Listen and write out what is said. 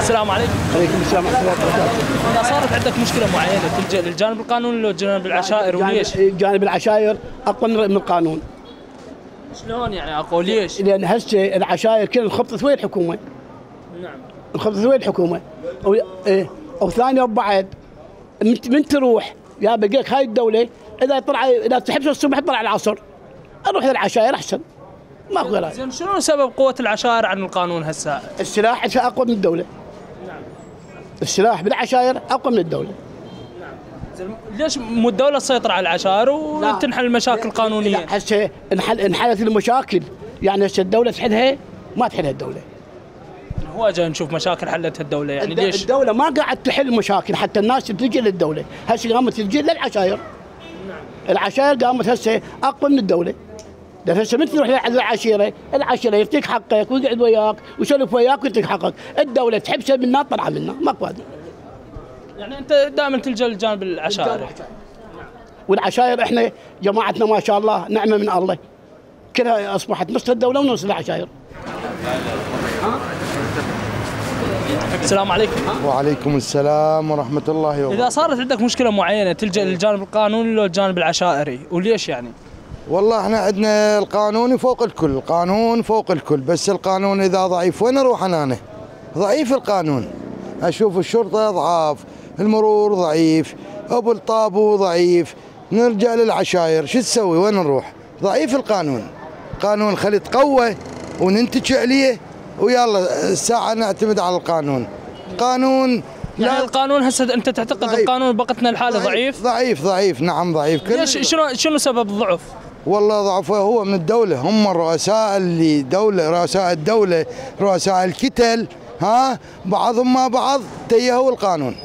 السلام عليكم. عليكم السلام ورحمه الله وبركاته. اذا صارت عندك مشكله معينه تلجا للجانب القانوني ولا جانب العشائر وليش؟ جانب العشائر اقوى من القانون. شلون يعني اقوى ليش؟ لان هسه العشائر كلها انخبطت ويا الحكومه. نعم. انخبطت ويا الحكومه. او ثانيه وبعد من تروح يا بقيك هاي الدوله اذا تحبس الصبح طلع العصر. اروح للعشائر احسن. ماكو غير. زين شنو سبب قوه العشائر عن القانون هسه؟ السلاح اقوى من الدوله. نعم. السلاح بالعشائر اقوى من الدوله. نعم. زين ليش مو الدوله تسيطر على العشائر وتنحل المشاكل قانونيا؟ هسه انحلت المشاكل، يعني هسه الدوله تحلها ما تحلها الدوله. هو جاي نشوف مشاكل حلتها الدوله يعني ليش؟ الدوله ما قاعد تحل مشاكل، حتى الناس تلجئ للدوله، هسه قامت تلجئ للعشائر. نعم. العشائر قامت هسه اقوى من الدوله. لان هسه من تروح للعشيره، العشيره يعطيك حقك ويقعد وياك ويسولف وياك ويعطيك حقك، الدوله تحبسه منها طلع منها، ماكو هذا. يعني انت دائما تلجا للجانب العشائري. والعشائر احنا جماعتنا ما شاء الله نعمه من الله. كلها اصبحت نص الدوله ونص العشائر. السلام عليكم. وعليكم السلام ورحمة الله وبركاته. إذا صارت عندك مشكلة معينة تلجأ للجانب القانوني ولا الجانب العشائري وليش يعني؟ والله احنا عندنا القانون فوق الكل، القانون فوق الكل، بس القانون إذا ضعيف وين أروح أنا؟ ضعيف القانون. أشوف الشرطة ضعاف، المرور ضعيف، أبو الطابو ضعيف، نرجع للعشائر، شو تسوي؟ وين نروح؟ ضعيف القانون. قانون خلي يتقوى وننتج عليه ويلا الساعة نعتمد على القانون. قانون يعني القانون هسه انت تعتقد ضعيف. القانون بوقتنا الحالي ضعيف؟ ضعيف نعم ضعيف. ليش شنو سبب الضعف؟ والله ضعفه هو من الدولة، هم الرؤساء اللي رؤساء الدولة، رؤساء الكتل، بعضهم مع بعض تيهوا القانون.